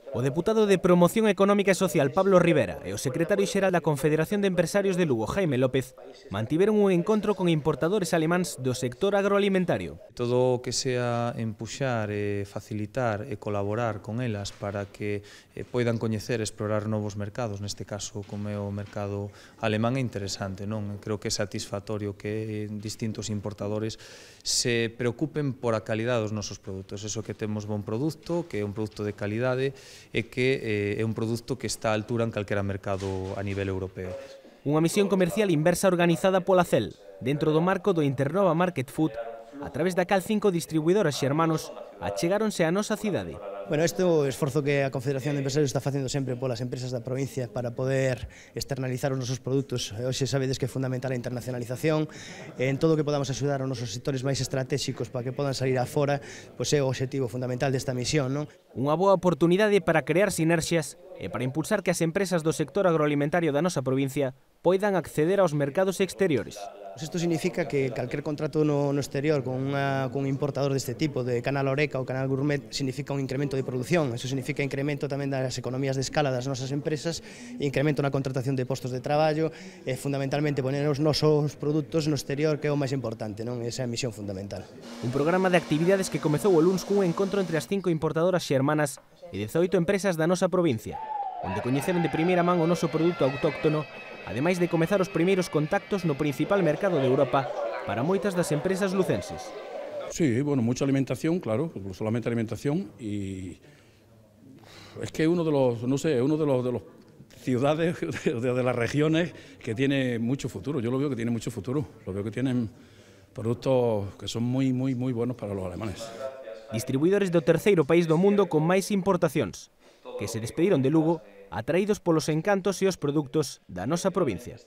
O deputado de Promoción Económica e Social Pablo Rivera e o secretario xeral da Confederación de Empresarios de Lugo Jaime López mantiveron un encontro con importadores alemáns do sector agroalimentario. Todo o que sea empuxar, facilitar e colaborar con elas para que poidan coñecer e explorar novos mercados, neste caso como é o mercado alemán, é interesante, non? Creo que é satisfactorio que distintos importadores se preocupen por a calidade dos nosos produtos, eso que temos bon produto, que é un produto de calidade e que é un produto que está á altura en calquera mercado a nivel europeo. Unha misión comercial inversa organizada pola CEL, dentro do marco do Internova Market Food, a través da cal 5 distribuidoras xermanos achegáronse á nosa cidade. Bueno, este é o esforzo que a Confederación de Empresarios está facendo sempre polas empresas da provincia para poder externalizar os nosos produtos. Hoxe sabedes que é fundamental a internacionalización, en todo o que podamos axudar aos nosos sectores máis estratégicos para que podan salir afora, pois é o obxectivo fundamental desta misión, non? Unha boa oportunidade para crear sinerxias e para impulsar que as empresas do sector agroalimentario da nosa provincia poidan acceder aos mercados exteriores. Isto significa que calquer contrato no exterior con un importador deste tipo, de Canal Oreca ou Canal Gourmet, significa un incremento de produción. Eso significa incremento tamén das economías de escala das nosas empresas, incremento na contratación de postos de traballo e fundamentalmente poner os nosos produtos no exterior, que é o máis importante, non? Esa é a misión fundamental. Un programa de actividades que comezou o luns cun encontro entre as 5 importadoras xermanas e 18 empresas da nosa provincia, onde coñeceron de primeira man o noso produto autóctono, ademais de comezar os primeiros contactos no principal mercado de Europa para moitas das empresas lucenses. Sí, bueno, mucha alimentación, claro, solamente alimentación, y es que uno de los, no sé, uno de los ciudades, de las regiones que tiene mucho futuro. Yo lo veo que tiene mucho futuro, lo veo que tienen productos que son muy buenos para los alemanes. Distribuidores do terceiro país do mundo con máis importacións, que se despediron de Lugo atraídos polos encantos e os produtos da nosa provincia.